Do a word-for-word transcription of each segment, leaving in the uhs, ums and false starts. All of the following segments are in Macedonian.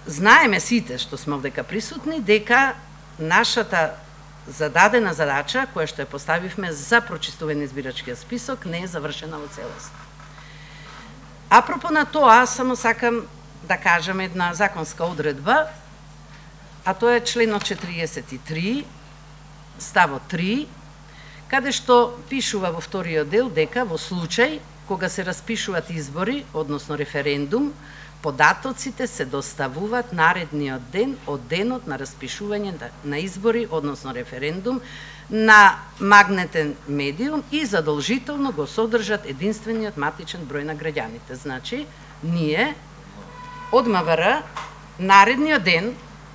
знаеме сите што сме овдека присутни дека нашата зададена задача која што ја поставивме за прочистување на избирачкиот список не е завршена во целост. Апропо на тоа, само сакам да кажам една законска одредба, а тоа е членот четириесет и три, ставот три, каде што пишува во вториот дел дека во случај кога се распишуваат избори, односно референдум, податоците се доставуваат наредниот ден од денот на распишување на избори, односно референдум, на магнетен медиум и задолжително го содржат единствениот матичен број на граѓаните. Значи, ние од МВР наредниот ден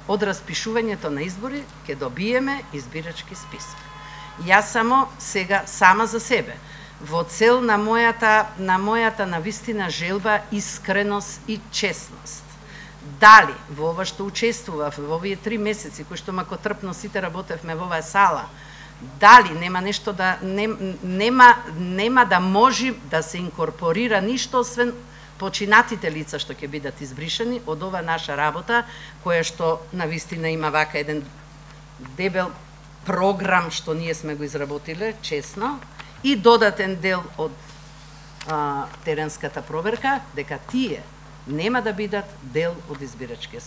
од распишувањето на избори ќе добиеме избирачки список. Јас само сега сама за себе, во цел на мојата на мојата навистина желба искреност и честност. Дали во ова што учествував во овие три месеци кои што макотрпно сите работевме во оваа сала, дали нема нешто да не, нема нема да може да се инкорпорира ништо освен починатите лица што ќе бидат избришани од ова наша работа, која што навистина има вака еден дебел програм што ние сме го изработиле честно, и додатен дел од а, теренската проверка, дека тие нема да бидат дел од избирачкиот